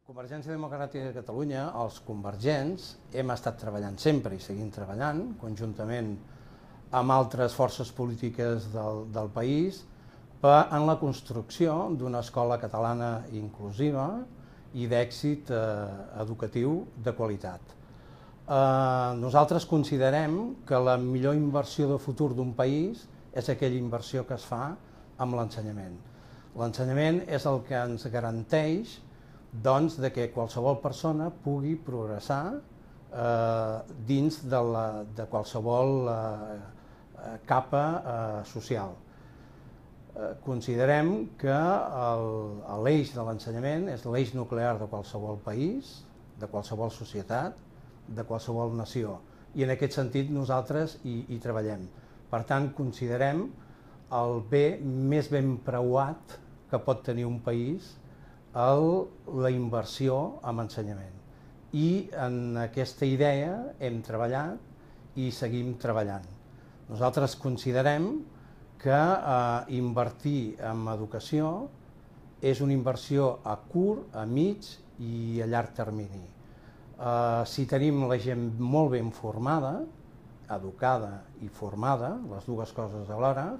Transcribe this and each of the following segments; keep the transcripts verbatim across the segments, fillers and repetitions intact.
Convergència Democràtica de Catalunya, els convergents, hem estat treballant sempre i seguim treballant, conjuntament amb altres forces polítiques del, del país, per, en la construcció d'una escola catalana inclusiva i d'èxit eh, educatiu de qualitat. Eh, nosaltres considerem que la millor inversió de futur d'un país és aquella inversió que es fa amb l'ensenyament. L'ensenyament és el que ens garanteix doncs, de que qualsevol persona pugui progressar eh, dins de, la, de qualsevol eh, capa eh, social. Eh, considerem que l'eix de l'ensenyament és l'eix nuclear de qualsevol país, de qualsevol societat, de qualsevol nació, i en aquest sentit nosaltres hi, hi treballem. Per tant, considerem el bé més ben preuat que pot tenir un país el, la inversió en ensenyament. I en aquesta idea hem treballat i seguim treballant. Nosaltres considerem que eh, invertir en educació és una inversió a curt, a mig i a llarg termini. Eh, si tenim la gent molt ben formada, educada i formada, les dues coses alhora,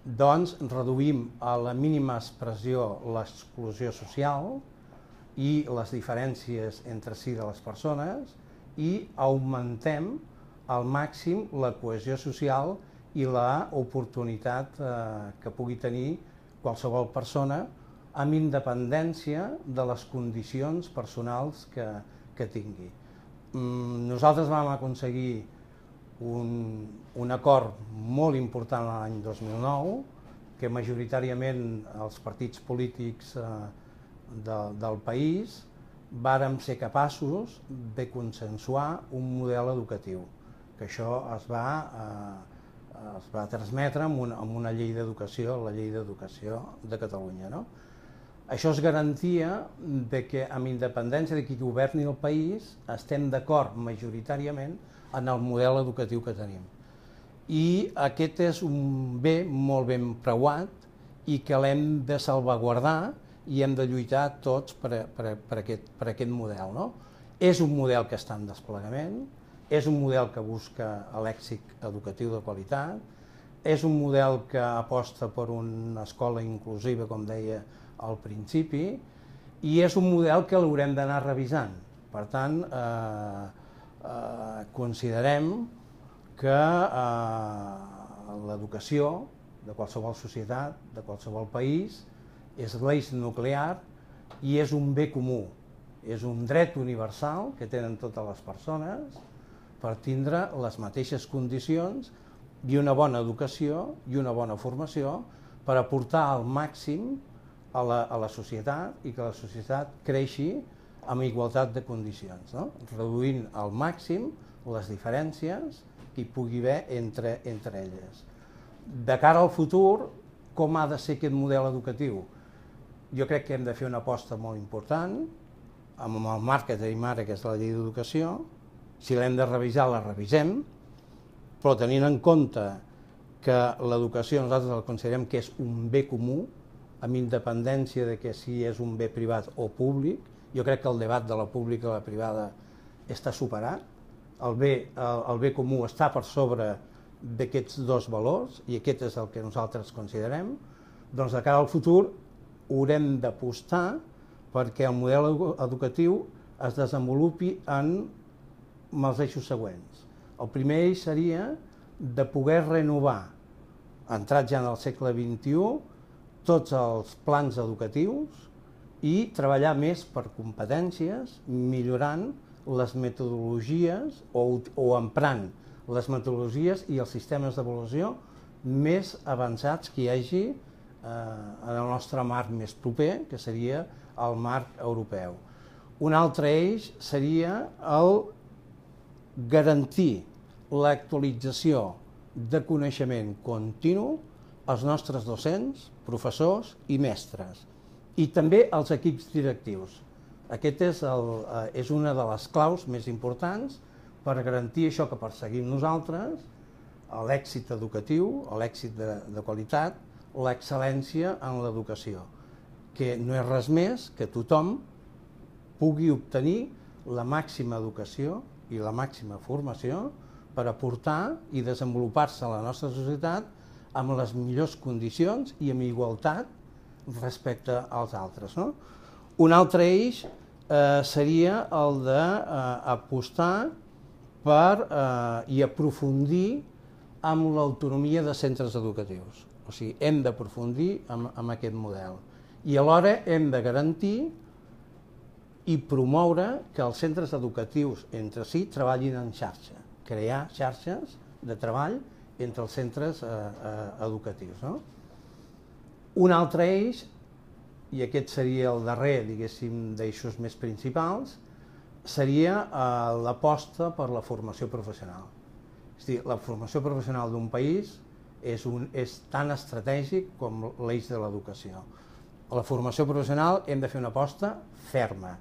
doncs reduïm a la mínima expressió l'exclusió social i les diferències entre si de les persones i augmentem al màxim la cohesió social i l'oportunitat eh, que pugui tenir qualsevol persona amb independència de les condicions personals que, que tingui. Mm, nosaltres vam aconseguir Un, un acord molt important l'any dos mil nou, que majoritàriament els partits polítics eh, de, del país vàrem ser capaços de consensuar un model educatiu, que això es va, eh, es va transmetre amb una, amb una llei d'educació, la llei d'educació de Catalunya. No? Això és garantia de que, amb independència de qui governi el país, estem d'acord majoritàriament en el model educatiu que tenim. I aquest és un bé molt ben preuat i que l'hem de salvaguardar i hem de lluitar tots per, per, per, aquest, per aquest model. No? És un model que està en desplegament, és un model que busca l'èxit educatiu de qualitat, és un model que aposta per una escola inclusiva, com deia al principi, i és un model que l'haurem d'anar revisant. Per tant, eh, Eh, considerem que eh, l'educació de qualsevol societat, de qualsevol país, és l'eix nuclear i és un bé comú, és un dret universal que tenen totes les persones per tindre les mateixes condicions i una bona educació i una bona formació per aportar al màxim a la, a la societat i que la societat creixi amb igualtat de condicions, no? Reduint al màxim les diferències que hi pugui haver entre, entre elles. De cara al futur, com ha de ser aquest model educatiu? Jo crec que hem de fer una aposta molt important, amb el marc que tenim ara, que és la llei d'educació. Si l'hem de revisar, la revisem, però tenint en compte que l'educació nosaltres la considerem que és un bé comú, amb independència de que si és un bé privat o públic. Jo crec que el debat de la pública i la privada està superat. El bé, el, el bé comú està per sobre d'aquests dos valors i aquest és el que nosaltres considerem. Doncs de cara al futur haurem d'apostar perquè el model educatiu es desenvolupi en els eixos següents. El primer eix seria de poder renovar, entrat ja en el segle vint-i-u, tots els plans educatius i treballar més per competències, millorant les metodologies o, o emprant les metodologies i els sistemes d'avaluació més avançats que hi hagi eh, en el nostre marc més proper, que seria el marc europeu. Un altre eix seria el garantir l'actualització de coneixement continu als nostres docents, professors i mestres, i també als equips directius. Aquest és, el, és una de les claus més importants per garantir això que perseguim nosaltres, l'èxit educatiu, l'èxit de, de qualitat, l'excel·lència en l'educació, que no és res més que tothom pugui obtenir la màxima educació i la màxima formació per aportar i desenvolupar-se a la nostra societat amb les millors condicions i amb igualtat respecte als altres, no? Un altre eix eh, seria el d'apostar per eh, i aprofundir amb l'autonomia de centres educatius. O sigui, hem d'aprofundir amb, amb aquest model. I alhora hem de garantir i promoure que els centres educatius entre si treballin en xarxa, crear xarxes de treball entre els centres eh, eh, educatius, no? Un altre eix, i aquest seria el darrer, diguéssim, d'eixos més principals, seria eh, l'aposta per la formació professional. És a dir, la formació professional d'un país és, un, és tan estratègic com l'eix de l'educació. A la formació professional hem de fer una aposta ferma.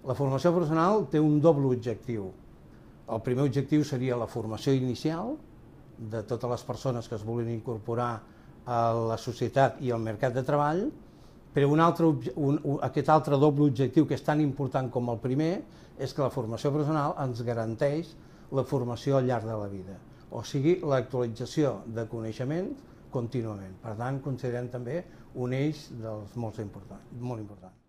La formació professional té un doble objectiu. El primer objectiu seria la formació inicial de totes les persones que es vulguin incorporar a la societat i al mercat de treball, però un altre, un, un, aquest altre doble objectiu, que és tan important com el primer, és que la formació professional ens garanteix la formació al llarg de la vida, o sigui, l'actualització de coneixement contínuament. Per tant, considerem també un eix dels molt important, molt important.